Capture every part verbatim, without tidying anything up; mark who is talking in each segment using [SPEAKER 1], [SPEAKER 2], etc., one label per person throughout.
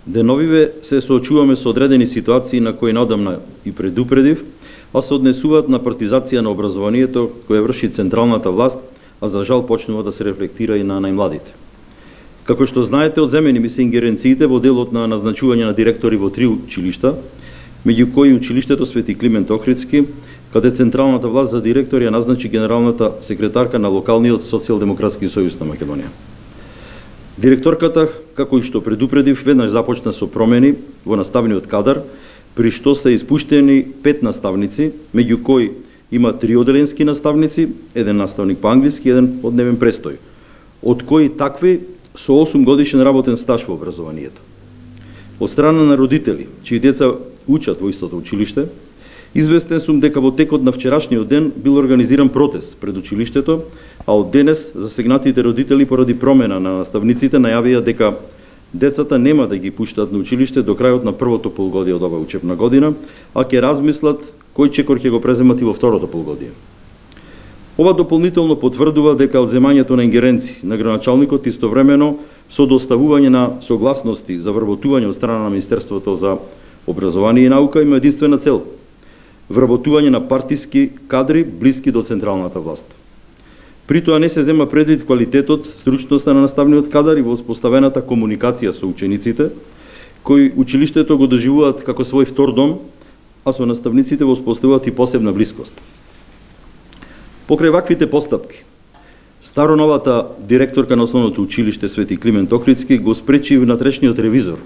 [SPEAKER 1] Деновиве се соочуваме со одредени ситуации на кои надамна и предупредив, а се однесуваат на партизација на образованието која врши централната власт, а за жал почнува да се рефлектира и на најмладите. Како што знаете, одземени ми се ингеренциите во делот на назначување на директори во три училишта, меѓу кои училиштето Свети Климент Охридски, каде централната власт за директор ја назначи генералната секретарка на локалниот Социјалдемократски сојуз на Македонија. Директорката, како и што предупредив, веднаш започна со промени во наставниот кадар, при што се испуштени пет наставници, меѓу кои има три оделенски наставници, еден наставник по англиски, еден од дневен престој, од кои такви со осум годишен работен стаж во образованието. Од страна на родители, чии деца учат во истото училиште, известен сум дека во текот на вчерашниот ден бил организиран протест пред училиштето, а од денес засегнатите родители поради промена на наставниците најавија дека децата нема да ги пуштат на училиште до крајот на првото полугодие од оваа учебна година, а ќе размислат кој чекор ќе го преземат и во второто полугодие. Ова дополнително потврдува дека одземањето на ингеренции на градоначалникот истовремено со доставување на согласности за вработување од страна на Министерството за образование и наука има единствена цел – вработување на партиски кадри блиски до централната власт. При тоа не се зема предвид квалитетот, стручноста на наставниот кадар и воспоставената комуникација со учениците, кои училиштето го доживуваат како свој втор дом, а со наставниците воспоставуваат и посебна блискост. Покрај ваквите постапки, староновата директорка на основното училиште Свети Климент Охридски го спречи внатрешниот ревизор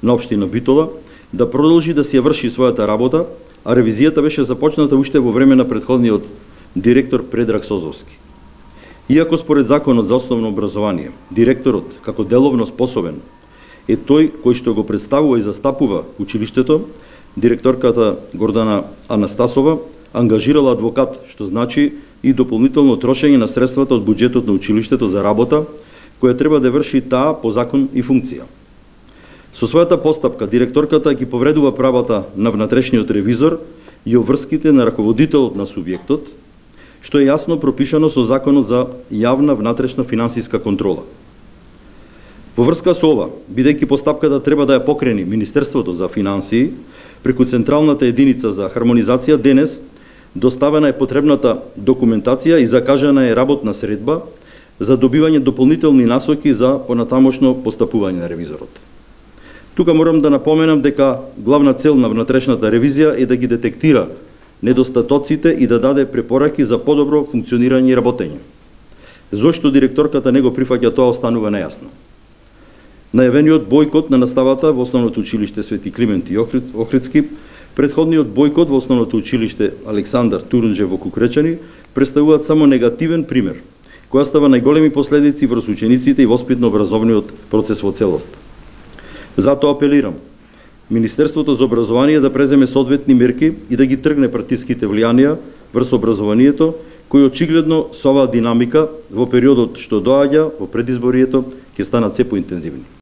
[SPEAKER 1] на општина Битола да продолжи да си ја врши својата работа, а ревизијата беше започната уште во време на претходниот директор Предраг Созовски. Иако според Законот за основно образование, директорот, како деловно способен, е тој кој што го представува и застапува училиштето, директорката Гордана Анастасова ангажирала адвокат, што значи и дополнително трошење на средствата од буџетот на училиштето за работа, која треба да врши таа по закон и функција. Со својата постапка, директорката ги повредува правата на внатрешниот ревизор и обврските на раководителот на субјектот, што е јасно пропишано со Законот за јавна внатрешна финансиска контрола. Во врска со ова, бидејќи постапката треба да ја покрени Министерството за финансии, преку Централната единица за хармонизација, денес доставена е потребната документација и закажана е работна средба за добивање дополнителни насоки за понатамошно постапување на ревизорот. Тука морам да напоменам дека главна цел на внатрешната ревизија е да ги детектира недостатоците и да даде препораки за подобро функционирање и работење. Зошто директорката не го прифаќа тоа останува нејасно. Најавениот бојкот на наставата во основното училиште Свети Климент и Охридски, предходниот бојкот во основното училиште Александар Турунџев во Кукречани представуваат само негативен пример, кој остава најголеми последици врз учениците и воспитно-образовниот процес во целост. Затоа апелирам Министерството за образование да преземе соодветни мерки и да ги тргне партиските влијанија врз образованието, кои очигледно со оваа динамика во периодот што доаѓа во предизборието ќе станат се поинтензивни.